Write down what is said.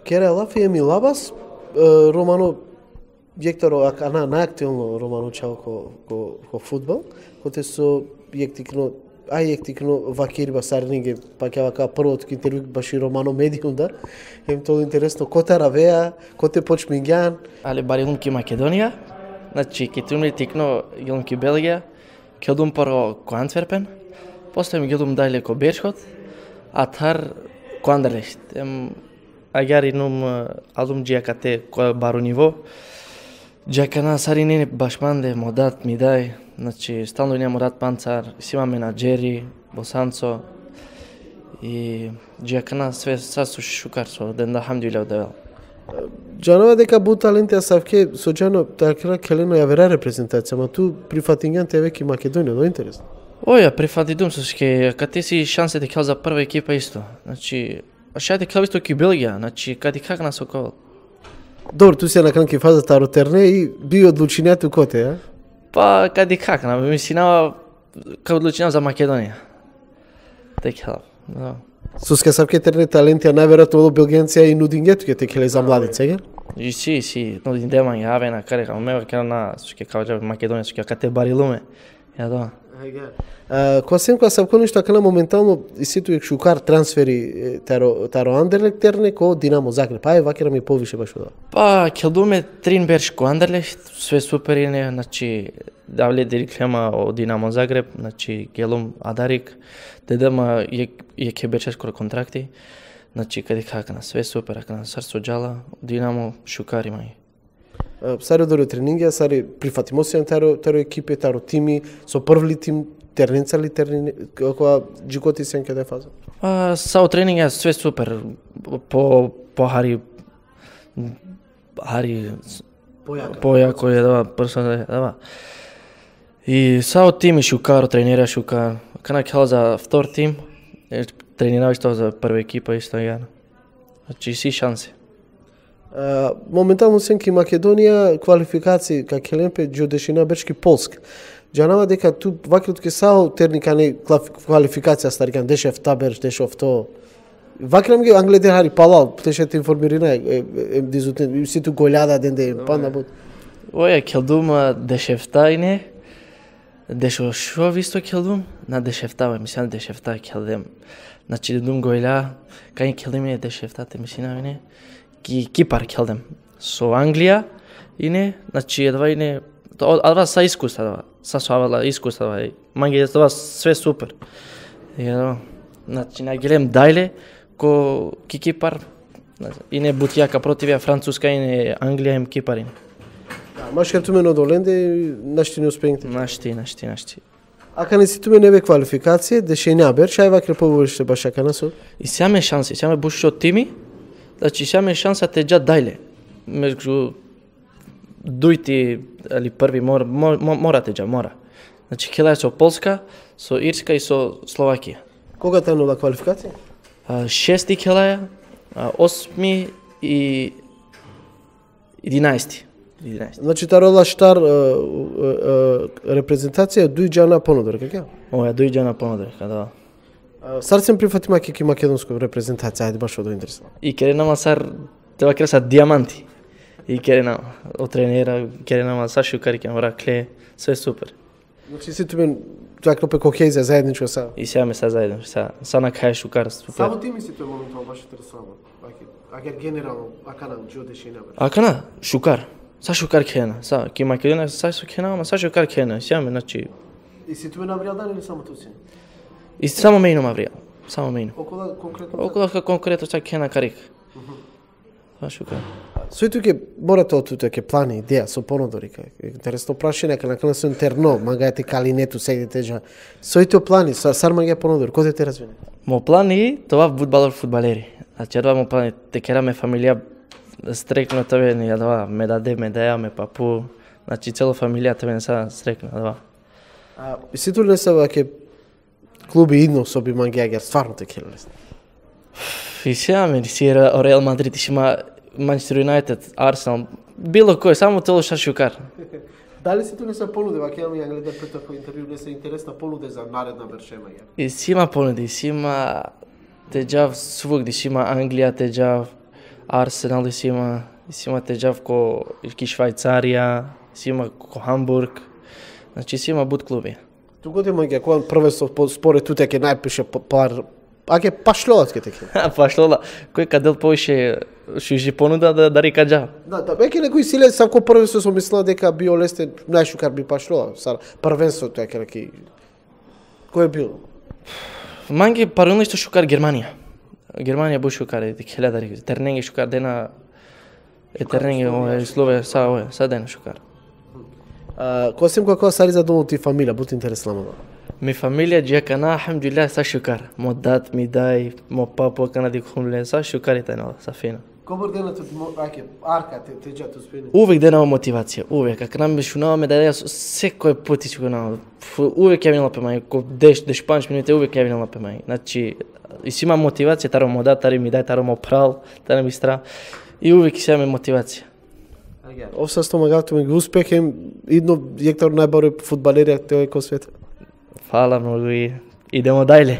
Кера Лафи Еми Лабас, Романо Јекторо акана наактивно Романо чао ко фудбал, коте со јектикно јектикно вакирба сарниге паќе вака првото интервју баши Романо медиум да. Им тоа интересно кота равеа, коте почмињан. Але барилум ки Македонија, значи ки тумли тикно гелум ки Белгија, келдум прво ко Антверпен, после ми гелум дајле ко Бершот, а тар ко Андерлехт. Агар инум алум джиакате ко бару ниво, джакана сари не башманде модат ми дај, значи стално нема рад панцар, сима менаџери, босанцо и джакана све сасу шукар со ден да хамдулилlah давел. Џанова дека бу таленти асавке со џано такра келено ја вера репрезентација, ма ту прифатињан тебе ки Македонија, но интересно. Оја, прифатидум со ке кате си шансе дека за прва екипа исто. Значи, шајде кај исто ки Белгија, значи кади как на сокол. Добро, ту си на кранки фаза таротерне и би одлучињето коте, а? Па кади как на мислинава кај одлучиња за Македонија. Така, да. Со скасавке терне таленти, а најверојатно од белгенција и нудињето ќе текеле за младица, ге? И си, но дема јаве на карека, мева ке на ске кај Македонија, ске кате барилуме. Ја да. Кога сенко савко нешто кана моментално и ситу шукар трансфери таро Андерлехт терне ко Динамо Загреб. Ај вакера ми повише баш од. Па келдуме трин берш ко Андерлехт, све супер ине, значи давле диреклема од Динамо Загреб, значи гелум Адарик, дедама е ке беше скоро контракти. Значи каде какна све супер, акна срцо џала, Динамо шукар имај. Сари одоре тренинги, сари прифатимо се таро екипи, таро тими, со првли тим терненца ли терни, кога джикоти сен каде фаза? Сао тренинг све супер, по хари појако е, да, персонално, да. И сао тими шукар, тренера шукар, кана кел за втор тим, тренирав исто за прва екипа исто ја. Значи си шанси. Моментално сенки Македонија квалификации ка Келемпе џодешина бешки Полска. Џанава дека ту вакрот ке сао терника не квалификација старикан дешев табер дешов то. Вакрам ги англедер хари палал, тешете информирина дизутен ситу голјада денде панда бут. Оја келдум дешефтајне. Дешо шо висто келдум на дешефтава, мислам дешефта келдем. Значи дедум голја, кај келдем е дешефтате мислина не. Кипар келдем со Англија ине, значи едва ине адва са искуства дава, са соавала искуства дава, манги това све супер. Значи на гелем дајле ко Кипар, ине бутијака противија Француска ине Англија им Кипарин. Машкер туме но доленде нашти не успењте. Нашти. Ака не си туме небе квалификација, дешења бер, шај вакре поволиште баш ака насо. И сеаме шанси, сеаме бушо тими. Значи сеаме шанса те џа дајле. Меѓу дујти али први мора те џа, мора. Значи келај со Полска, со Ирска и со Словакија. Кога тренува квалификација? 6 келаја, 8 и 11. Значи тарола штар репрезентација дуј џана понудор, како? Оја дуј џана понудор, да. Сарцем прифатима ки македонско репрезентација, ајде баш од интересно. И кере нама сар треба креса диаманти. И кере нама од тренера, кере нама са шукари ке мора кле, све супер. Значи си туме така пе кохезија заедничко са. И сеаме са заедно, са на кај шукар супер. Само ти ми си тој моментално баш интересувано. Ака генерално ака на џодешина. Ака на шукар. Са шукар кена, са ки Македонија са кена, ама са шукар кена, сеаме значи. И си туме навријал дан или само туси? И само мејно мавријал, само мејно. Околу конкретно. Околу конкретно са кена карик. Са шукар. Сој туке морате од тука ке плани идеја со понудори кај. Интересно прашање кај на со интерно, магајте калинету сегите жа. Сој тоа плани, сар магај понудори, кој те развине? Мо плани тоа фудбалери. Значи едва мо плани те кераме фамилија стрекно тебе ни едва ме даде медаја, папу. Значи цела фамилија тебе не са стрекно едва. И ситу не се ваке клуби идно со би мангиагер, стварно те келеле. И сеаме си Реал Мадрид, има Манчестер Юнайтед, Арсенал, било кој, само тоа што шукар. Дали си не се понуди, ваке ја гледам пред тако интервју, не се интересна понуде за наредна вершема ја? И си има понуди, си има те џав свугди, си има Англија, те џав Арсенал и си има теџав ко Швајцарија, си има ко Хамбург. Значи си има бут клуби. Тук има ќе кога првенство според туте ќе најпише пар аке пашлоат ке теке. Пашлола, кој кадел поише шужи понуда да река джа. Да, веќе некој силе сам ко првенство со мислел дека био лесте најшукар би пашлоа. Сар првенството е ке кој е бил? Манги парално што шукар Германија. Германија бу шукар е 1000 терненги шукар дена терненги е Слове са дена шукар. Косим како сари за домот и фамилија, бут интересно. Mi familja ġekana, alhamdulillah, sa xukar. Mo dat, mi daj, mo papo kana dik humle, sa xukar itajna, sa fina. Komor dena tu arka te ġatu spini? Uvek dena motivacija, uvek. Ak nam šunao me da ja sve koje puti šunao. Uvek je vinila pe maj, ko 10-15 minute uvek je vinila pe maj. Znači, i si ima motivacija, taro mo dat, taro mi daj, taro mo pral, taro mi stra. I uvek si ima motivacija. Овса стомагато ми успех е идно Јектор најбарој фудбалери тој кој свет. Hvala mnogo i idemo dalje.